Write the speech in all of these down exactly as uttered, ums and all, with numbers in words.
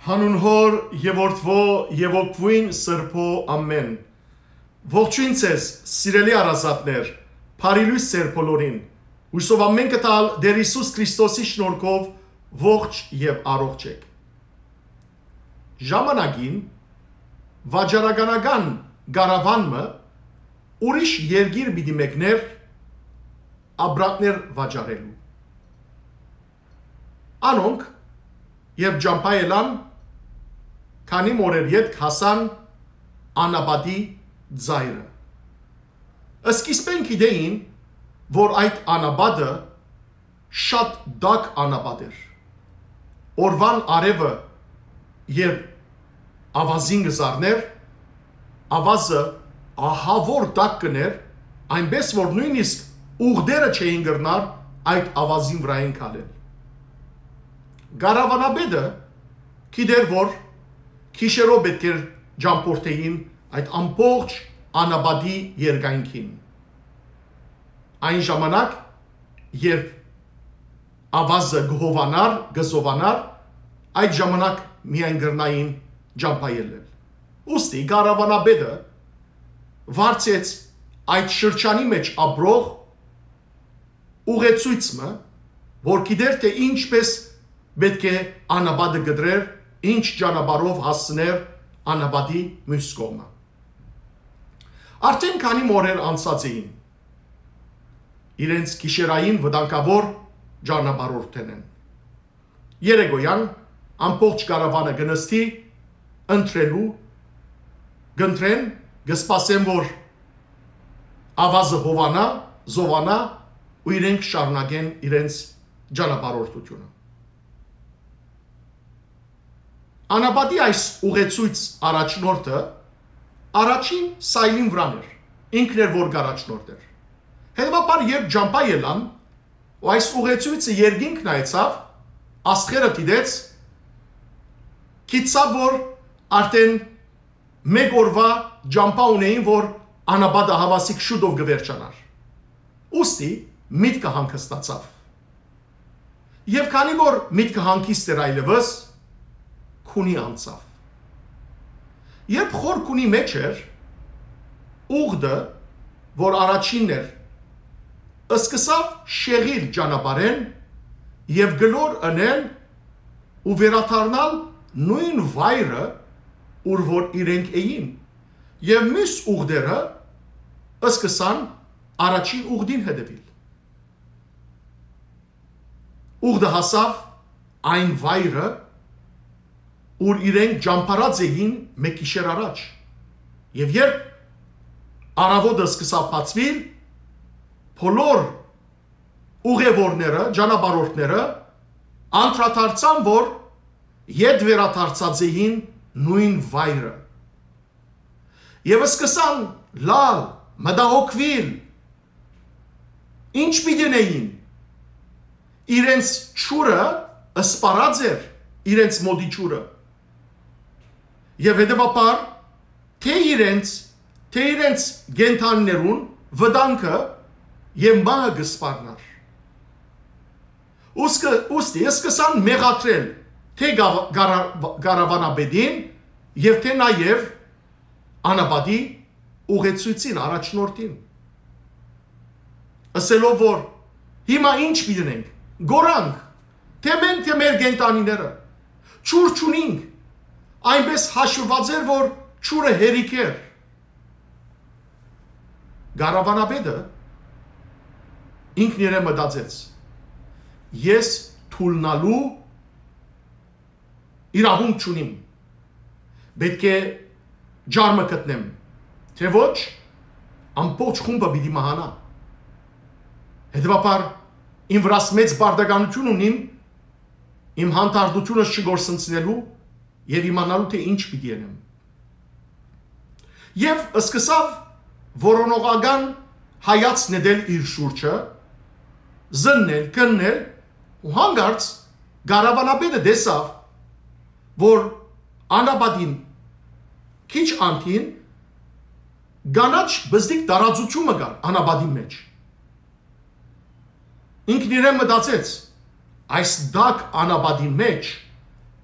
Հանուն Հօր եւ Որդւոյ եւ Հոգւոյն Սրբոյ, ամէն։ Ողջոյն ձեզ, սիրելի հարազատներ, բարի լոյս ձեր բոլորին։ Յուսով ամէն կը տալ Տէր Յիսուս Քրիստոսի շնորհքով ողջ եւ առողջ եք։ Ժամանակին վաճառականական կարաւան մը ուրիշ երկիր պիտի մեկներ ապրանքներ վաճառելու։ Անոնք, երբ ճամբայ ելան, քանի մօրեր ետք հասան անապատի ծայրը։ Սկիզբէն գիտէին, որ այդ անապատը շատ տաք անապատ էր։ Օրուան արեւը, երբ աւազին կը զարներ, աւազը ահաւոր տաք կ'ընէր, այնպէս որ նոյնիսկ ուղտերը չէին կրնար այդ աւազին վրայէն քալել։ Կարաւանապետը գիտէր, որ գիշերով պէտք էր ճամբորդէին այդ ամբողջ անապատի երկայնքին։ Այն ժամանակ, երբ աւազը կը հովանար, կը զովանար, այդ ժամանակ միայն կրնային ճամբայ ելլել։ Ուստի կարաւանապետը վարձեց այդ շրջանի մէջ ապրող ուղեցոյց մը, որ գիտէր, թէ ինչպէս պէտք է անապատը կտրեր, ինչ ճանապարհով հասցներ անապատի միւս կողմը։ Արդէն քանի մօրեր անցած էին իրենց գիշերային վտանգաւոր ճանապարհորդենէն։ Երեկոյան ամբողջ կարաւանը կը նստի ընտրելու, կընտրեն, կը սպասեն, որ աւազը հովանայ, զովանայ ու իրենք շարունակեն իրենց ճանապարհորդութիւնը։ Անապատի այս ուղեցոյց առաջնորդը առաջին սայլին վրան էր, ինքն էր, որ կ'առաջնորդէր։ Հետեւաբար, երբ ճամբայ ելան, ու այս ուղեցոյցը երկինք նայեցաւ, աստղերը դիտեց, գիտցաւ, որ արդէն մէկ օրուայ ճամբայ ունէին, որ անապատը հաւասիկ շուտով կը վերջանար։ Ուստի միտքը հանգստացաւ։ Եւ քանի որ միտքը հանգիստ էր այլեւս, քունի անցաւ։ Երբ խոր քունի մէջ էր, ուղտը, որ առաջինն էր, սկսաւ շեղիլ ճանապարհէն եւ գլոր ընել ու վերադառնալ նոյն վայրը, ուր որ իրենք էին, եւ միւս ուղտերը սկսան առաջին ուղտին հետեւիլ։ Ուղտը հասաւ այն վայրը, ուր իրենք ճամբարած էին մէկ գիշեր առաջ։ Եւ երբ առաւոտը սկսաւ բացուիլ, բոլոր ուղեւորները, ճանապարհորդները անդրադարձան, որ ետ վերադարձած էին նոյն վայրը։ Եւ սկսան լալ, մտահոգուիլ, ինչ պիտի ընէին։ Իրենց ջուրը սպառած էր, իրենց մօտի ջուրը։ Եւ հետեւաբար, թէ իրենց, թէ իրենց կենդանիներուն վտանգը եւ մահը կը սպառնար։ Ուսկը-, ուստի սկսան մեղադրել թէ գավ-, գարա-, գարավանապետին եւ թէ նաեւ անապատի ուղեցոյցին, առաջնորդին, ըսելով որ հիմա ինչ պիտի ընենք, գորանք, թէ մենք, թէ մեր կենդանիները, ջուր չունինք, այնպես հաշվուած էր, որ ջուրը հերիք էր։ Գարավանապետը ինքն իրեն մտածեց. «Ես թուլնալու իրաւունք չունիմ։ Պէտք է ջարմը գտնեմ, թէ ոչ, ամբողջ խումբը պիտի մահանայ։ Հետեւաբար իմ վրաս մեծ պարտականութիւն ունիմ իմ հանդարտութիւնս չկորսնցնելու եւ իմանալու թէ ինչ պիտի ընեմ»։ Եւ սկսաւ որոնողական հայացք նետել իր շուրջը, զննել, քննել, ու հանկարծ գարավանապետը տեսաւ, որ անապատին քիչ անդին կանաչ բզդիկ տարածութիւն մը կար անապատին մէջ։ Ինքն իրեն մտածեց. «Այս տաք անապատին մէջ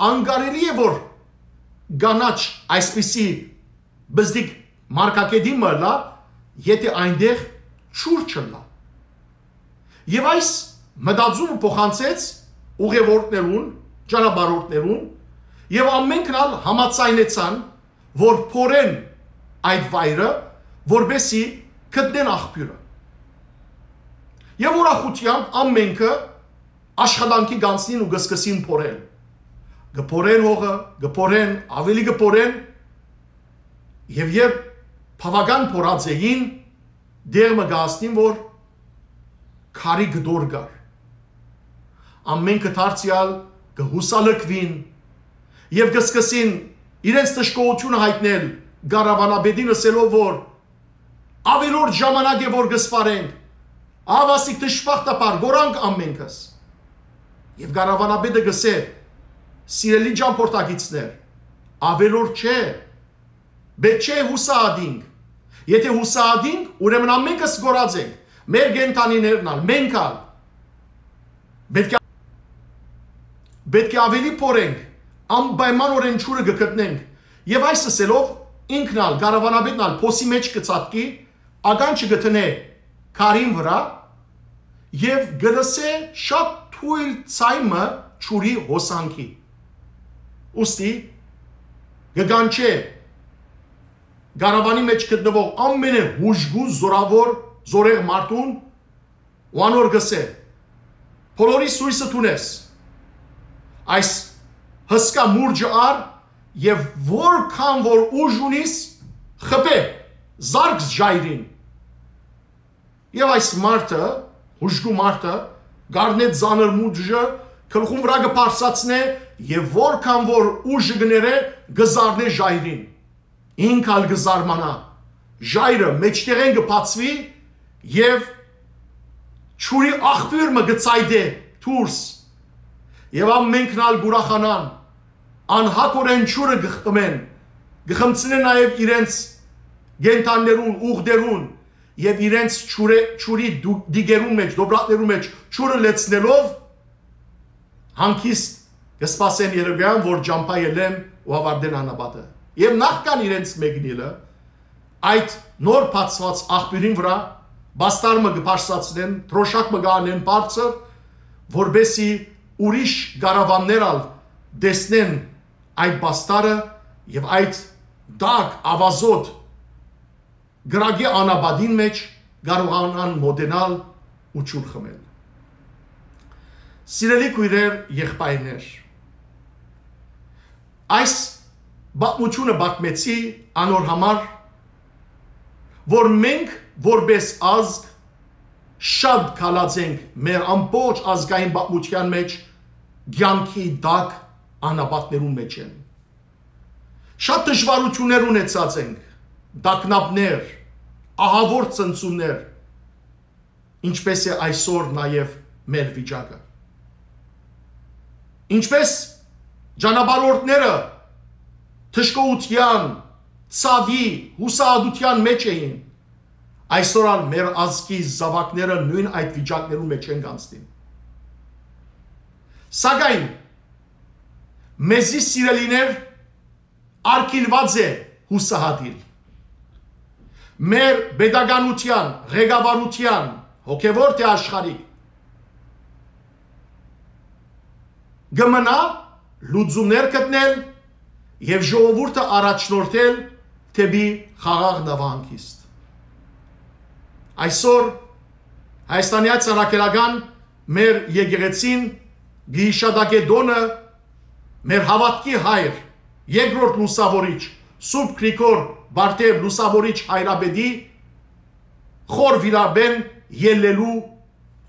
Անկարելի է որ կանաչ այսպիսի բզդիկ մարգագետին մը ըլլայ, եթէ այնտեղ ջուր չըլլայ։ Եւ այս մտածումը փոխանցեց ուղևորներուն, ճանապարհորդներուն, եւ ամենքն ալ համաձայնեցան, որ փորեն այդ վայրը, որպեսզի գտնեն աղբիւրը։ Եւ ուրախութեամբ ամենքը աշխատանքի կանցնին ու կսկսին փորել։ Կփորեն հողը, կփորեն, ավելի կփորեն, եւ երբ բաւական փորած էին, դեր մը կհասնին, որ քարի կտոր կար։ Ամենքը դարձեալ կը յուսալքուին եւ կսկսին իրենց դժգոհութիւնը յայտնել կառավանապետին, ըսելով որ ավելորդ ժամանակ է որ կսպարենք, ահա ասիկ դժբախտաբար կորանք ամենքս։ Եւ կառավանապետը կսէ. «Սիրելի ճամփորդակիցներ, ավելորդ չէ, պէտք չէ յուսահատինք։ Եթէ յուսահատինք, ուրեմն ամենքս կորած ենք, մեր կենդանիներն ալ, մենք ալ։ Պէտք է, պէտք է ավելի փորենք, անպայմանօրէն ջուրը կգտնենք»։ Եւ այս ըսելով, ինքն ալ, կառավանապետն ալ փոսի մէջ կը ցատկի, ականջը կը դնէ քարին վրայ եւ կը լսէ շատ թոյլ ձայն մը ջուրի հոսանքի։ Ուստի կը կանչէ կառավանի մէջ գտնուող ամենը հուժկու զորաւոր, զորեղ մարդուն ու անոր կսէ. «Բոլորիս յոյսը դուն ես։ Այս հսկայ մուրճը առ եւ որքան որ ուժ ունիս, խփէ, զարկ ժայռին»։ Եւ այս մարդը, հուժկու մարդը, կառնէ ծանր մուրճը, գլխուն վրայ կը բարձրացնէ եւ որքան որ ուժը կը ներէ, կը զարնէ ժայռին։ Ինք ալ կը զարմանայ, ժայռը մէջտեղէն կը բացուի եւ ջուրի աղբիւր մը կը ցայտէ դուրս։ Եւ ամենքն ալ կ'ուրախանան, անհագօրէն ջուրը կը խմեն, կը խմցնեն նաեւ իրենց կենդաններուն, ուղտերուն եւ իրենց ջուրի, ջուրի դու-, դիգերուն մէջ, դոբրակներուն մէջ ջուրը լեցնելով, հանգիստ կը սպասեն երեւեան, որ ճամբայ ելեն ու աւարտեն անապատը։ Եւ նախքան իրենց մեկնիլը, այդ նոր բացուած աղբիւրին վրայ պաստար մը կը բարձրացնեն, դրոշակ մը կ'անեն բարձր, որպեսզի ուրիշ կառավաններ ալ տեսնեն այդ պաստարը եւ այդ տաք, աւազոտ կրակի անապատին մէջ կարողանան մօտենալ ու ջուր խմել։ Սիրելի քոյրեր, եղբայրներ, այս պատմութիւնը պատմեցի անոր համար, որ մենք որպէս ազգ շատ քալած ենք մեր ամբողջ ազգային պատմութեան մէջ, կեանքի տակ անապատներուն մէջ են։ Շատ դժուարութիւններ ունեցած ենք, տագնապներ, ահաւոր ցնցումներ, ինչպէս է այսօր նաեւ մեր վիճակը։ Ինչպէս ճանապարհորդները դժգոհութեան, ցաւի, յուսահատութեան մէջ էին, այսօր ալ մեր ազգի զաւակները նոյն այդ վիճակներուն մէջ են կանցնին։ Սակայն մեզի սիրելիներ արգիլուած է յուսահատիլ։ Մեր պետականութեան, ղեկավարութեան, հոգեւոր թէ աշխարհիկ, կը մնայ լուծումներ գտնել եւ ժողովուրդը առաջնորդել դէպի խաղաղ նավահանգիստ։ Այսօր Հայաստանի Հայ Առաքելական մեր եկեղեցին կը յիշատակէ տօնը մեր հաւատքի հայր, երկրորդ լուսաւորիչ, Սուրբ Գրիգոր Բարդեւ լուսաւորիչ հայրապետի խոր վիրաբեն ելլելու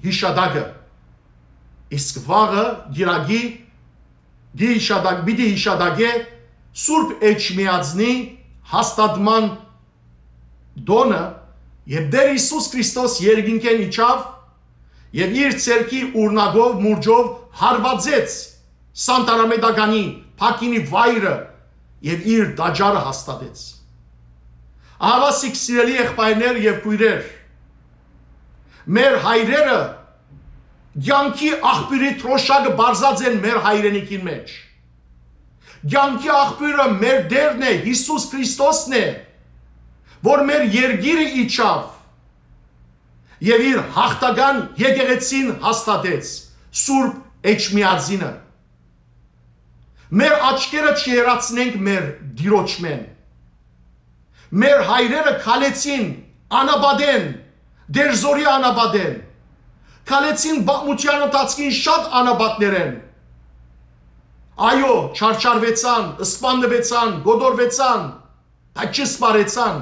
յիշատակը։ Իսկ վաղը կիրակի կը յիշատակ-, պիտի յիշատակէ Սուրբ Էջմիածնի հաստատման տօնը, երբ Տէր Յիսուս Քրիստոս երկինքէն իջաւ եւ իր ձեռքի ուրնակով, մուրճով հարուածեց Սանտարամետականի փակինի վայրը եւ իր տաճարը հաստատեց։ Ահավասիկ, սիրելի եղբայրներ եւ քոյրեր, մեր հայրերը կեանքի աղբիւրի դրոշակը բարձած են մեր հայրենիքին մէջ։ Կեանքի աղբիւրը մեր Տէրն է, Յիսուս Քրիստոսն է, որ մեր երկիրը իջաւ եւ իր յաղթական եկեղեցին հաստատեց, Սուրբ Էջմիածինը։ Մեր աչքերը չհեռացնենք մեր Տիրոջմէն։ Մեր հայրերը քալեցին անապատէն, Տէր Զօրի անապատէն, քալեցին պատմութեան ընթացքին շատ անապատներէն։ Այո, չարչարուեցան, սպաննուեցան, կոտորուեցան, բայց չսպարեցան,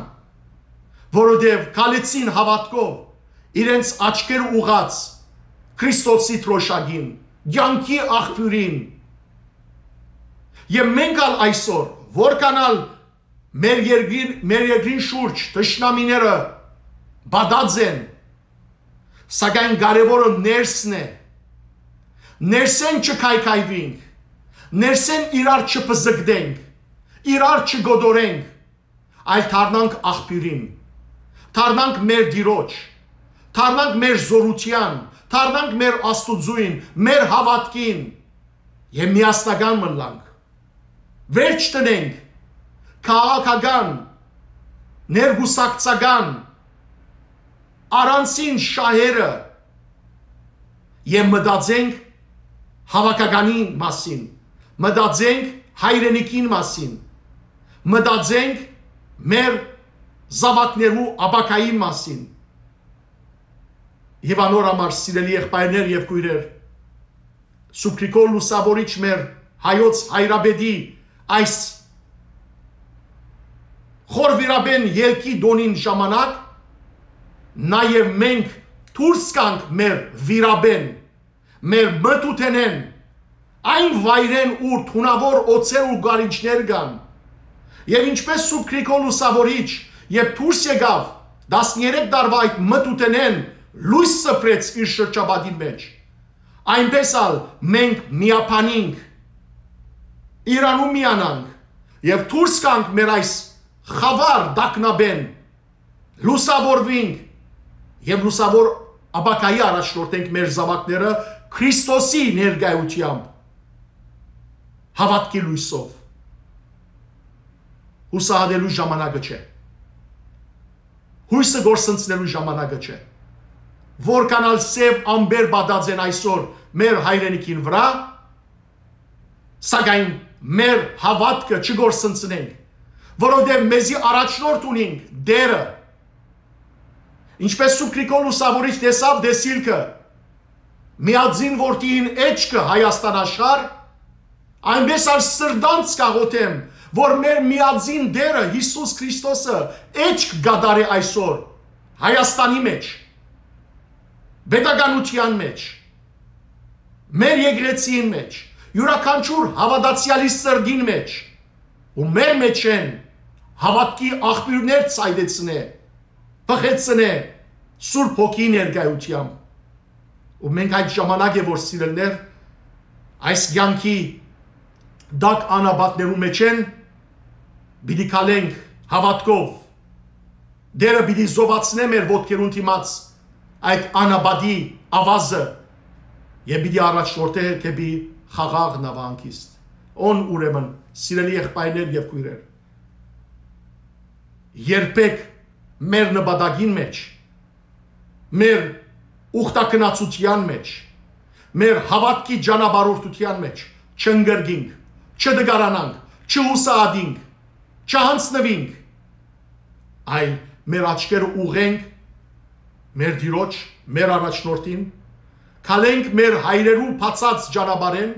որովհետեւ քալեցին հաւատքով իրենց աչքերը ուղղած Քրիստոսի դրոշակին, կեանքի աղբիւրին։ Եւ մենք ալ այսօր, որքան ալ մեր երկրին, մեր երկրին շուրջ թշնամիները պատած են, սակայն կարեւորը ներսն է։ Ներսէն չքայքայուինք, ներսէն իրար չբզկտենք, իրար չկոտորենք, այլ դառնանք աղբիւրին, դառնանք մեր Տիրոջ, դառնանք մեր զօրութեան, դառնանք մեր Աստուծոյն, մեր հաւատքին եւ միասնական մնանք։ Վերջ տնենք քաղաքական, ներկուսակցական, առանցին շահերը եւ մտածենք հաւաքականի մասին, մտածենք հայրենիքին մասին, մտածենք մեր զաւակներու ապագային մասին։ Եւ անոր համար, սիրելի եղբայրներ եւ քոյրեր, Սուրբ Գրիգոր Լուսաւորիչ մեր հայոց հայրապետի այս խոր վիրապեն ելքի տոնին ժամանակ, նաեւ մենք դուրս գանք մեր վիրապեն, մեր մթութենէն, այն վայրէն, ուր թունաւոր օձեր ու գարիջներ կան։ Եւ ինչպէս Սուրբ Գրիգոր Լուսաւորիչ, երբ դուրս եկաւ տասներեք տարուայ այդ մթութենէն, լոյս սփռեց իր շրջապատին մէջ, այնպէս ալ մենք միաբանինք, իրարու միանանք եւ դուրս գանք մեր այս խաւար տագնապէն, լուսաւորուինք եւ լուսաւոր ապագայի առաջնորդենք մեր զաւակները Քրիստոսի ներկայութեամբ, հաւատքի լոյսով։ Յուսահատելու ժամանակը չէ։ Յոյսը կորսնցնելու ժամանակը չէ։ Որքան ալ սեւ ամպեր պատած են այսօր մեր հայրենիքին վրայ, սակայն մեր հաւատքը չկորսնցնենք, որովհետեւ մեզի առաջնորդ ունինք Տէրը։ Ինչպէս Սուրբ Գրիգոր Լուսաւորիչ տեսաւ տեսիլքը, միածին որդիին էջքը Հայաստան աշխարհ, այնպէս ալ սրտանց կաղոթեմ, որ մեր միածին Տէրը Յիսուս Քրիստոսը էջք կատարէ այսօր Հայաստանի մէջ, պետականութեան մէջ, մեր եկեղեցիին մէջ, իւրաքանչիւր հաւատացեալի սրտին մէջ, ու մեր մէջէն հաւատքի աղբիւրներ ցայտեցնէ, բխեցնէ Սուրբ Հոգիի ներկայութեամբ։ Ու մենք այդ ժամանակ է, որ, սիրելիներ, այս կեանքի տակ անապատներու մէջէն պիտի քալենք հաւատքով, Տէրը պիտի զովացնէ մեր ոտքերուն դիմաց այդ անապատի ավազը եւ պիտի առաջնորդէ դէպի խաղաղ նավահանգիստ։ Ուն ուրեմն, սիրելի եղբայրներ եւ քոյրեր, երբեք մեր նպատակին մէջ, մեր ուխտագնացութեան մէջ, մեր հաւատքի ճանապարհորդութեան մէջ չընկրկինք, չտկարանանք, չհուսահատինք, չյանձնուինք, այլ մեր աչքերը ուղղենք մեր Տիրոջ, մեր առաջնորդին, քալենք մեր հայրերու բացած ճանապարհէն,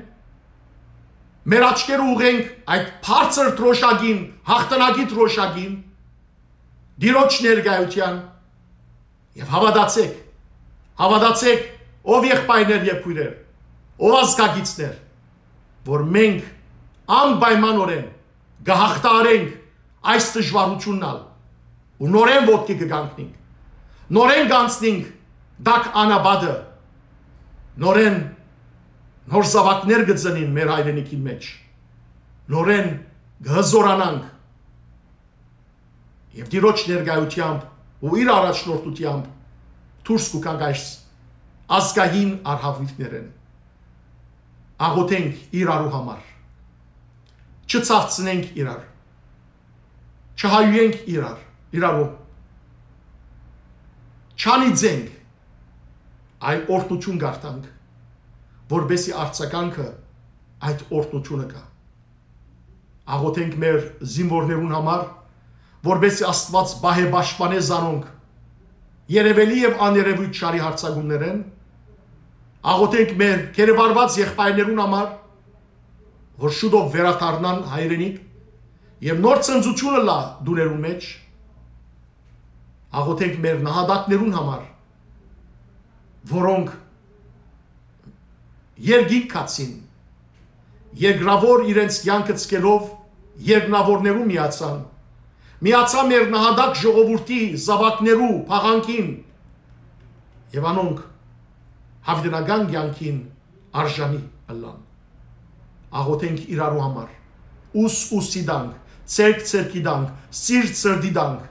մեր աչքերը ուղղենք այդ բարձր դրոշակին, յաղթանակի դրոշակին, Տիրոջ ներկայութեան, եւ հաւատացէք, հաւատացէք, ով եղբայրներ եւ քոյրեր, ով ազգագիցներ, որ մենք անպայմանօրէն կը յաղթահարենք այս դժուարութիւնն ալ ու նորէն ոտքի կը կանգնենք, նորէն կանցնենք տակ անապատը, նորէն նոր զաւակներ կը ծնին մեր հայրենիքին մէջ, նորէն կը հզօրանանք եւ Տիրոջ ներկայութեամբ ու իր առաջնորդութեամբ դուրս կու գանք այս ազգային արհավիրքներէն։ Աղոթենք իրարու համար։ չցավցնենք իրար, չհայոյենք իրար, իրարու, չանիծենք, այլ օրհնութիւն կ'արթանք, որպեսզի արձագանքը այդ օրհնութիւնը գայ։ Աղոթենք մեր զինուորներուն համար, որպեսզի Աստուած պահէ, պաշտպանէ զանոնք երեւելի եւ աներեւոյթ չարի յարձակումներէն։ Աղոթենք մեր գերեվարուած եղբայրներուն համար, որ շուտով վերադառնան հայրենիք եւ նոր ցնծութիւնը լա տուներուն մէջ։ Աղոթենք մեր նահատակներուն համար, որոնք երկինք գացին, երկրաւոր իրենց կեանքը ցկելով երկնաւորներուն միացան, միացան մեր նահատակ ժողովուրդի զաւակներու փաղանքին եւ անոնք յաւիտենական կեանքին արժանի ըլլան։ Աղոթենք իրարու համար, ուս ուսի տանք, ցերկ ցերկի տանք, սիրտ սրտի տանք,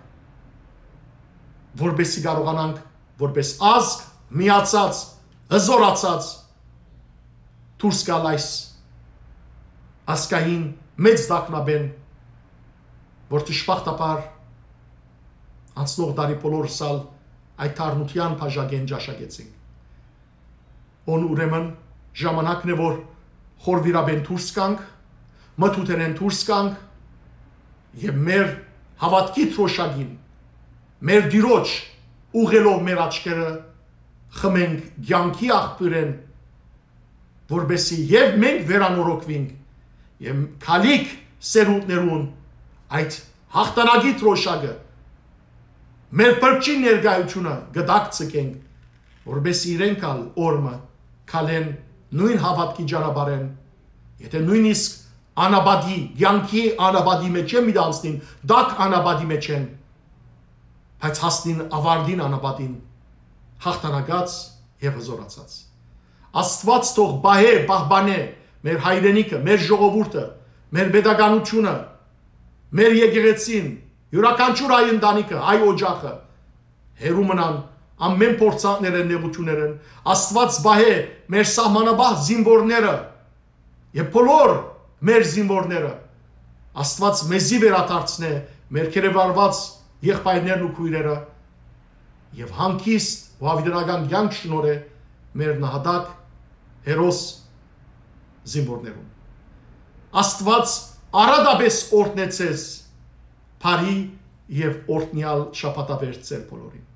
որպեսզի կարողանանք որպես ազգ միացած, հզորացած դուրս գալ այս ազգային մեծ տագնապէն, որ դժբախտաբար անցնող տարի բոլորս ալ այդ թարմութեան բաժակէն ճաշակեցինք։ Ուն ուրեմն ժամանակն է, որ խորվիրապէն դուրս գանք, մթութենէն դուրս գանք եւ մեր հաւատքի դրոշակին, մեր Տիրոջ ուղղելով մեր աչքերը, խմենք կեանքի աղբիւրէն, որպեսզի եւ մենք վերանորոգուինք եւ գալիք սերունդներուն այդ յաղթանակի դրոշակը, մեր փրկչին ներկայութիւնը կտակցկենք, որպեսզի իրենք ալ օրմը քալեն նոյն հաւատքի ճանապարհէն, եթե նոյնիսկ անապատի, կեանքի անապատի մէջ են, մի անցնին, տակ անապատի մէջ են, բայց հասնին աւարտին անապատին, յաղթանակած եւ հզորացած։ Աստուած թող պահէ, պահպանէ մեր հայրենիքը, մեր ժողովուրդը, մեր պետականութիւնը, մեր եկեղեցին, իւրաքանչիւր հայ ընտանիքը, հայ օջախը, հեռու մնան ամէն փորձանքներէն, նեղութիւններէն։ Աստուած պահէ մեր սահմանապահ զինուորները եւ բոլոր մեր զինուորները։ Աստուած մեզի վերադարձնէ մեր գերեվարուած եղբայրներն ու քոյրերը եւ հանգիստ ու յաւիտենական կեանք շնորհէ մեր նահատակ հերոս զինուորներուն։ Աստուած առատապէս օրհնեցես բարի եւ օրհնեալ շաբաթավերջ ձեր բոլորին։